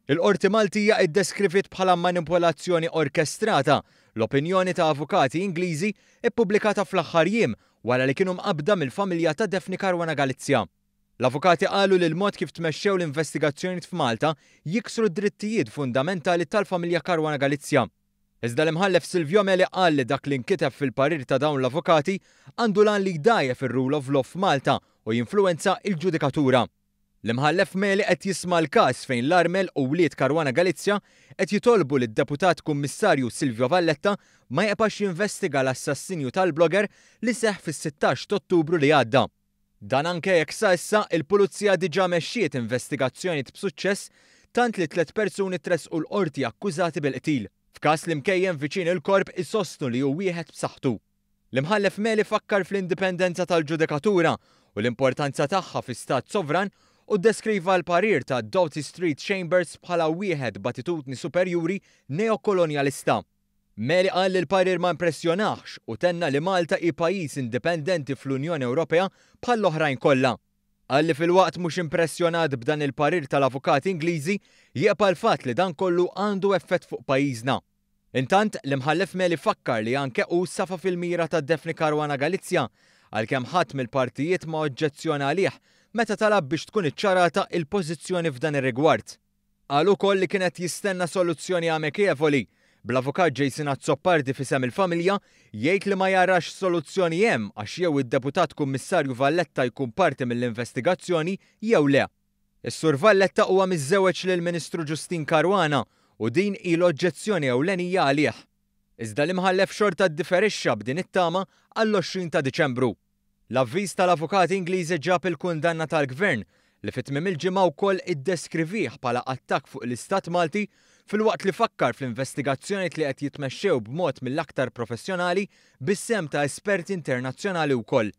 Il-Qorti Maltija iddeskriviet bħala manipolazzjoni orkestrata l-opinjoni ta' avukati Ingliżi ippubblikata fl-aħħar jiem wara li kienu mqabbda mill-familja ta' Daphne Caruana Galizia. L-avukati qalu li l-mod kif tmexxew l-investigazzjonijiet f'Malta jiksru d-drittijiet fundamentali tal-familja Caruana Galizia. Iżda l-Imħallef Silvio Meli qal li dak li nkiteb fil-parir ta' dawn l-avukati għandu l-għan li jdgħajjef ir-rule of law f'Malta u jinfluwenza il-ġudikatura. L-Imħallef Meli qed jisma' l-każ fejn l-armel u wlied Caruana Galizia qed jitolbu lid-Deputat Kummissarju Silvio Valletta ma jibqax jinvestiga l-assassinju tal-blogger li seħħ fis-16 ta' Ottubru li għadda. Dan anke jekk sa issa il-Pulizija diġà mexxiet investigazzjoni b'suċċess tant li tliet persuni tressqu l-qorti akkużati bil-qtil. F'każ li mkejjen viċin il-korp isostnu li hu wieħed b'saħħtu. L-Imħallef Meli fakkar fl-indipendenza tal-ġudikatura u l-importanza tagħha fi stat sovran u deskriva l-parir ta' Doughty Street Chambers bħala wieħed b'attitudni superjuri neokolonjalista. Meli qal li l-parir ma impressjonax u tenna li Malta hi pajjiż indipendenti fl-Unjoni Ewropea bħall-oħrajn kollha. Qal li filwaqt mhux impressjonat b'dan il-parir tal-avukati Ingliżi jibqa' l-fatt li dan kollu għandu effett fuq pajjiżna. Intant, l-Imħallef Meli fakkar li anke hu safa fil-mira ta' Daphne Caruana Galizia għalkemm ħadd mill-partijiet ma oġġezzjona għalih meta talab biex tkun iċċarata il-pożizzjoni f'dan ir-rigward. Qal ukoll li kienet jistenna soluzzjoni amikevoli, bl-avukat Jason Azzopardi f'isem il-familja jgħid li ma jarax soluzzjoni hemm għax jew id-deputat kummissarju Valletta jkun parti mill-investigazzjoni jew le. Is-Sur Valletta huwa miżżewweġ lill-Ministru Justyne Caruana u din hi l-oġġezzjoni ewlenija għalih. Iżda l-Imħallef xorta ddifferixxa b'din it-tama għall-20 ta' Diċembru. L-avviż tal-avukati Ingliżi ġab il-kundanna tal-Gvern li fi tmiem il-ġimgħa wkoll iddeskrivih bħala attakk fuq l-Istat Malti filwaqt li fakkar fl-investigazzjoni li qed jitmexxew b'mod mill-aktar professjonali bis-sehem ta' esperti internazzjonali wkoll.